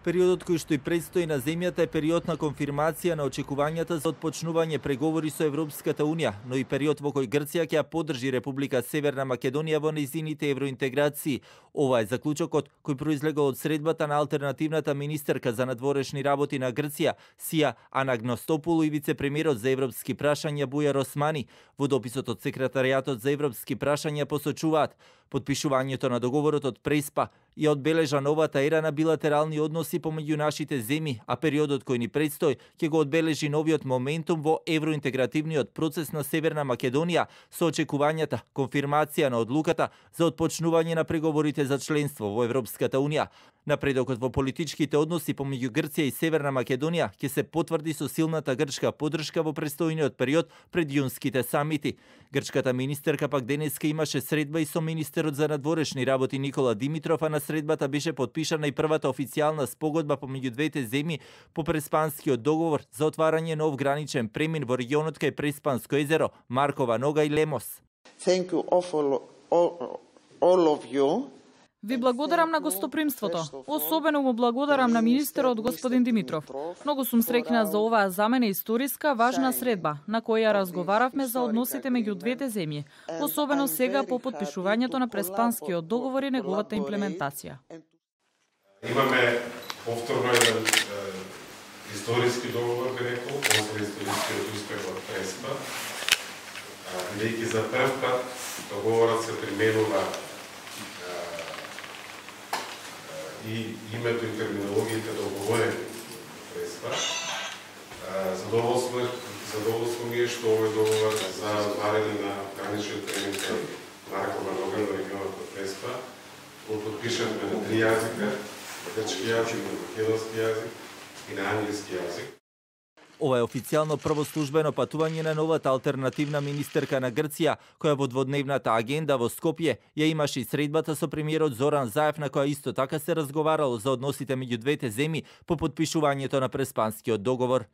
Периодот кој што и предстои на земјата е период на конфирмација на очекувањата за отпочнување преговори со Европската Унија, но и период во кој Грција ќе ја поддржи Република Северна Македонија во нејзините евроинтеграции. Ова е заклучокот кој произлегол од средбата на алтернативната министерка за надворешни работи на Грција, Сија Анагностопулу, и вице-премиерот за европски прашања Бујар Османи. Во дописот од секретаријатот за европски прашања посочуваат: потпишувањето на договорот од Преспа ја одбележа новата ера на билатерални односи помеѓу нашите земји, а периодот кој ни предстои ќе го одбележи новиот моментум во евроинтегративниот процес на Северна Македонија со очекувањата конфирмација на одлуката за отпочнување на преговорите за членство во Европската Унија. Напредокот во политичките односи помеѓу Грција и Северна Македонија ќе се потврди со силната грчка поддршка во престојниот период пред јунските самити. Грчката министерка пак денеска имаше средба и со министерот за надворешни работи Никола Димитров, а на средбата беше потпишана и првата официјална спогодба помеѓу двете земји по Преспанскиот договор за отварање нов граничен премин во регионот кај Преспанско езеро, Маркова нога и Лемос. Thank you all of you. Ви благодарам на гостопримството. Особено му благодарам на министерот господин Димитров. Многу сум среќна за оваа за мене историска важна средба, на која разговаравме за односите меѓу двете земји, особено сега по потпишувањето на Преспанскиот договор и неговата имплементација. Имаме повторно еден историски договор, би рекол, после историскиот успех од Преспа. Бидејќи за прв пат договорот се применува и името и терминологиите договорени Преспа. Задоволство ми е што овој договор за отварање на граничен премин кај Маркова нога во регионот од Преспа го потпишавме на 3 јазика: на грчки јазик, на македонски јазик и на англиски јазик. Ова е официјално прво службено патување на новата алтернативна министерка на Грција, која во дводневната агенда во Скопје ја имаше и средбата со премиерот Зоран Заев, на која исто така се разговарало за односите меѓу двете земји по потпишувањето на Преспанскиот договор.